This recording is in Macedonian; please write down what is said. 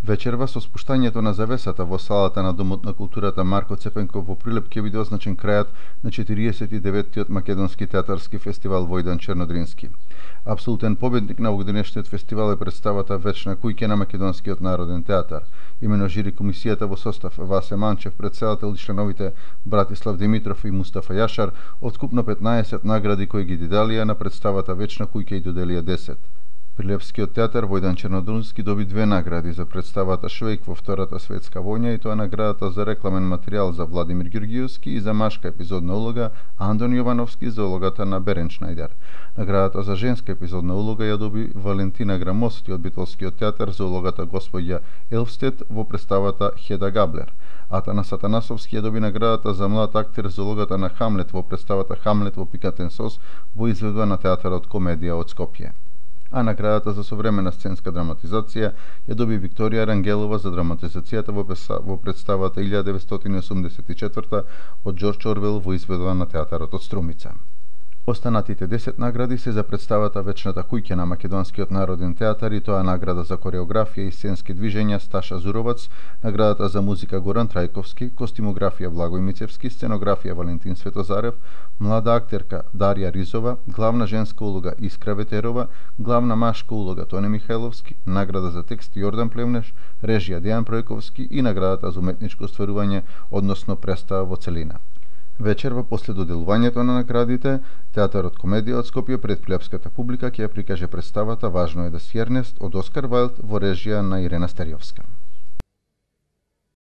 Вечерва со спуштањето на завесата во салата на Домот на културата Марко Цепенков во Прилеп ќе биде означен крајот на 49-тиот македонски театарски фестивал Војдан Чернодрински. Апсолутен победник на овогденешниот фестивал е представата Вечна куќа на Македонскиот народен театар. Имено жири комисијата во состав Васе Манчев, председател и членовите Братислав Димитров и Мустафа Јашар, од скупно 15 награди кои ги диделија на представата Вечна куќа и доделија 10. Прилепскиот театар Војдан Чернодрински доби 2 награди за представата Швејк во Втората светска војна, и тоа наградата за рекламен материјал за Владимир Ѓурѓиевски и за машка епизодна улога Андон Јовановски за улогата на Берен Шнајдер. Наградата за женска епизодна улога ја доби Валентина Грамости од Битолскиот театар за улогата Господја Елфстед во представата Хеда Габлер. Атанас Атанасовски ја доби наградата за млад актер за улогата на Хамлет во представата Хамлет во пикатен сос во изведба на театарот Комедија од Скопје. А наградата за современа сценска драматизација ја доби Викторија Рангелова за драматизацијата во представата 1984 од Џорџ Орвел во изведба на театарот од Струмица. Останатите 10 награди се за представата Вечната куќа на Македонскиот народен театар, и тоа награда за кореографија и сценски движења Сташа Зуровац, наградата за музика Горан Трајковски, костимографија Благој Мицевски, сценографија Валентин Светозарев, млада актерка Дарија Ризова, главна женска улога Искра Ветерова, главна машка улога Тоне Михајловски, награда за текст Јордан Плевнеш, режија Дејан Пројковски и наградата за уметничко остварување, односно представа во целина. Вечерва после доделувањето на наградите, театарот Комедија од Скопје пред прилепската публика ќе ја прикаже представата Важно е да си Ернест од Оскар Вајлд во режија на Ирена Стерјовска.